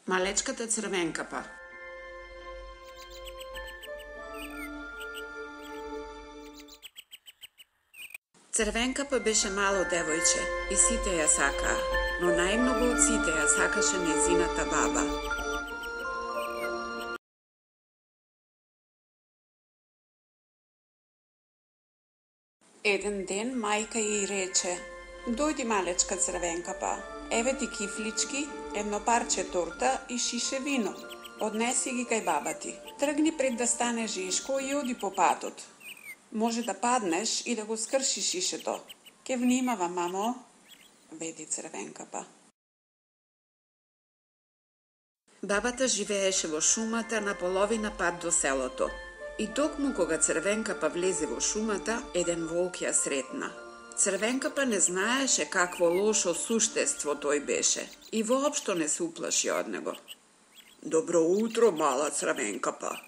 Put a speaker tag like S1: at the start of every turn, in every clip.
S1: Малечката Црвенкапа. Црвенкапа беше мало девојче и сите ја сакаа, но најмногу од сите ја сакаше нејзината баба. Еден ден мајка ѝ рече: "Дојди, малечка Црвенкапа, еве ти кифлички, едно парче торта и шише вино. Однеси ги кај баба ти. Тргни пред да стане жешко и оди по патот. Може да паднеш и да го скршиш шишето. Ке внимава, мамо", веди Црвенкапа. Бабата живееше во шумата на половина пат до селото. И токму кога Црвенкапа влезе во шумата, еден волк ја сретна. Црвенкапа не знаеше какво лошо суштество тој беше и воопшто не се уплаши од него. "Добро утро, мала Црвенкапа."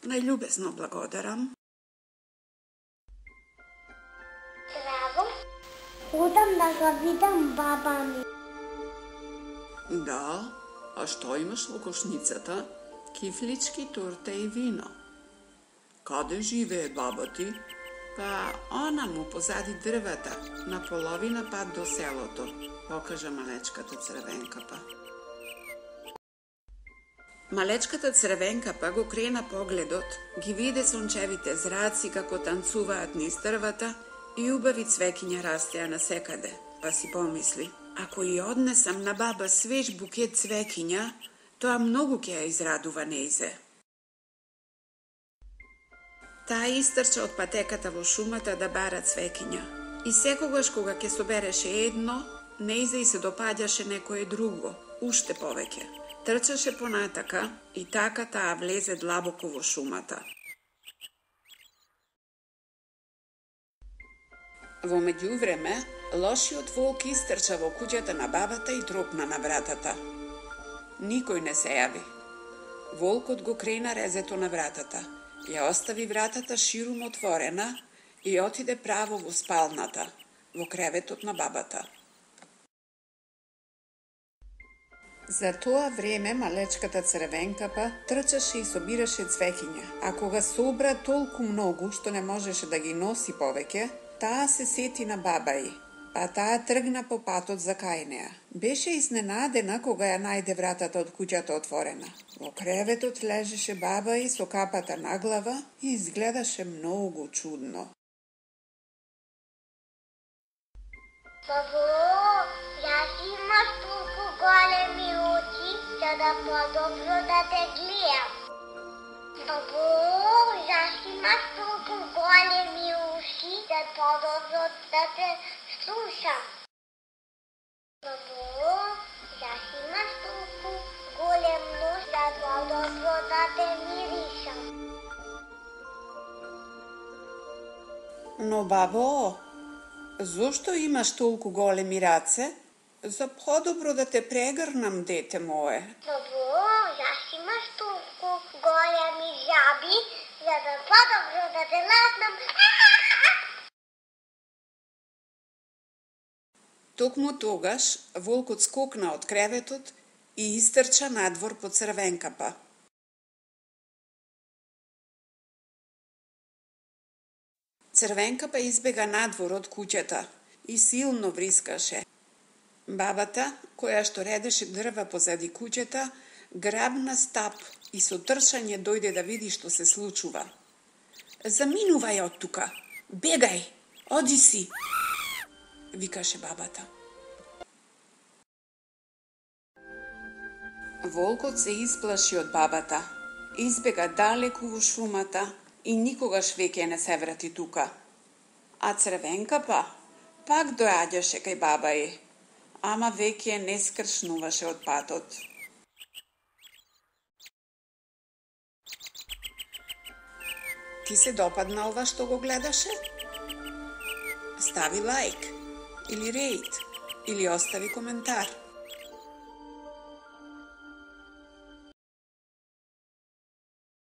S1: "Најљубезно благодарам."
S2: "Здраво, одам да го видам баба ми."
S1: "Да, а што имаш во кошницата?" "Кифлички, торта и вино." "Каде живее баба ти?" "Па, онаму позади дрвата, на половина пат до селото," покажа малечката Црвенкапа. Малечката Црвенкапа го крена погледот, ги виде сончевите зраци како танцуваат низ дрвата и убави цвеќиња растеа насекаде, па си помисли: "Ако и однесам на баба свеж букет цвеќиња, тоа многу ќе ја израдува нејзе." Таа истрча од патеката во шумата да бара цвеќиња. И секогаш кога ќе собереше едно, нејзе и се допаѓаше некое друго, уште повеќе. Трчаше понатака и така таа влезе длабоко во шумата. Во меѓувреме, лошиот волк истрча во куќата на бабата и тропна на вратата. Никој не се јави. Волкот го крена резето на вратата, ја остави вратата ширум отворена и отиде право во спалната, во креветот на бабата. За тоа време малечката Црвенкапа трчаше и собираше цвеќиња, а кога собра толку многу што не можеше да ги носи повеќе, таа се сети на баба ѝ, па таа тргна по патот за кај неа. Беше изненадена кога ја најде вратата од куќата отворена. Во креветот лежеше баба ѝ со капата на глава и изгледаше многу чудно.
S2: "Бабо, јас имаш толку големи очи, за да подобро да те гледам. Бабо, јас имаш толку големи уши, за подобро да те слушам. Бабо, јас имаш толку голем нос, за подобро да те миришам."
S1: "Но бабо, зошто имаш толку големи раце? За подобро да те прегрнам, дете мое."
S2: "Бабо, јас имаш толку големи жаби, за да подобро да те ласнам."
S1: Токму тогаш волкот скокна од креветот и истрча надвор по Црвенкапа. Црвенкапа избега надвор од куќата и силно врискаше. Бабата, која што редеше дрва позади куќата, грабна стап и со трчање дојде да види што се случува. "Заминувај од тука! Бегај! Оди си!" викаше бабата. Волкот се исплаши од бабата, избега далеку во шумата и никогаш веќе не се врати тука. А Црвенкапа пак доаѓаше кај баба ѝ, ама веќе не скршнуваше од патот. Ти се допадна ова што го гледаше? Стави лайк, или рејт, или остави коментар.